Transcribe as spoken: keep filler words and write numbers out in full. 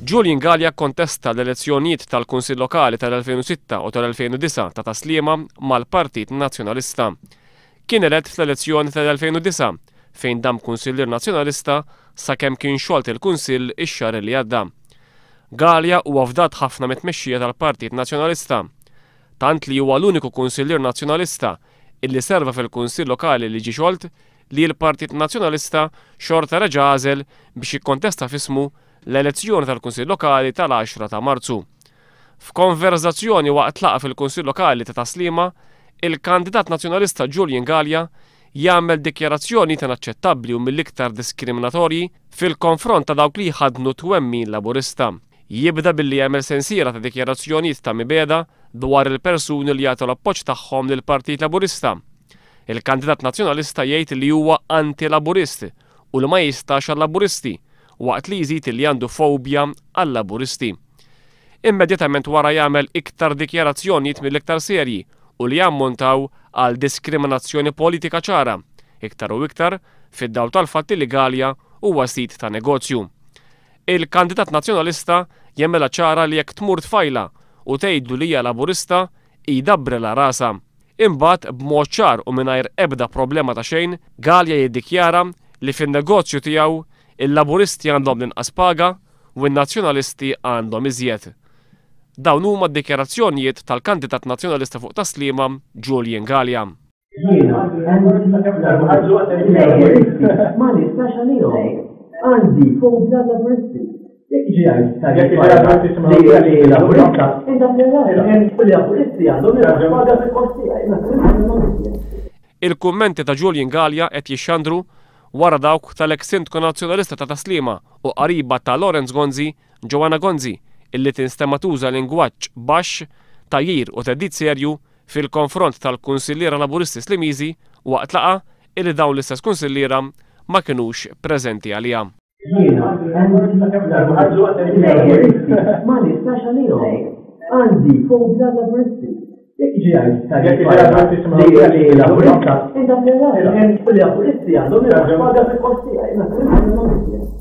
Julian Galea kontesta l-elezzjonijiet tal-Kunsill Lokali tal-elfejn u sitta u tal-elfejn u disgħa ta' Tas-Sliema mal-Partit Nazzjonalista. Kien elett fl-elezzjoni tal-elfejn u disgħa, fejn dam kunsillier Nazzjonalista sakemm kien xolt il-Kunsill ix-xahar li għadda. Galea huwa fdat ħafna mit-tmexxija tal-Partit Nazzjonalista. Tant li huwa l-uniku kunsillier Nazzjonalista illi serva fil-Kunsill Lokali li ġie xolt li l-Partit Nazzjonalista xorta reġa' għażel biex jikkontesta f'ismu l-elezzjoni tal-Kunsill Lokali tal-għaxra ta' Marzu. F'konverzazzjoni waqt laqgħa fil-Kunsill Lokali ta' Tas-Sliema, il-kandidat Nazzjonalista Julian Galea jagħmel dikjarazzjoni inaċċettabbli u mill-iktar diskriminatorji fil-konfront ta' dawk li jħaddnu twemmin Laburista. Jibda billi jagħmel sensiela ta' dikjarazzjonijiet ta' mibegħda dwar il-persuni li jagħtu l-appoġġ tagħhom lill-Partit Laburista. Il-kandidat Nazzjonalista jgħid li huwa anti-Laburist u li ma jistax għal-Laburisti, waqt li jżid li għandu fobja għal-Laburisti. Immedjatament wara jagħmel iktar dikjarazzjonijiet mill-iktar serji u li jammontaw għal diskriminazzjoni politika ċara, iktar u iktar fid-dawl tal-fatti li Galea huwa sid ta' negozju. Il-kandidat Nazzjonalista jagħmilha ċara li jekk tmur tfajla u tgħidlu li hija Laburista, jdabbrela rasha. Imbagħad, b'mod ċar u mingħajr ebda problema ta' xejn, Galea jiddikjara li fin-negozju tiegħu il-Laburisti għandhom l-inqas paga u n-Nazzjonalisti għandhom iżjed. Dawn huma d-dikjarazzjonijiet tal-kandidat Nazzjonalista fuq Tas-Sliema, Julian Galea. Jiena anti-Laburisti, ma nistax għalihom. Għandi fobja Laburisti. Jekk jiġi jgħid li Laburista, u Laburisti għandhom inqas paga fil-post tiegħi. Il-kummenti ta' Julian Galea qed jixxandru wara dawk tal-ex sindku Nazzjonalista ta' Tas-Sliema u qariba ta' Lawrence Gonzi, Joanna Gonzi, illi tinstema tuża lingwaġġ baxx, tgħajjir u theddid serju fil-konfront tal-kunsilliera Laburisti Slimiżi waqt laqgħa illi dawn l-istess kunsilliera ma kinux preżenti għaliha. Jiena anti-Laburisti, ma nistax għalihom. Għandi fobja Laburisti. Jekk jiġi jgħid li Laburista, u Laburisti għandhom inqas paga fil-post tiegħi.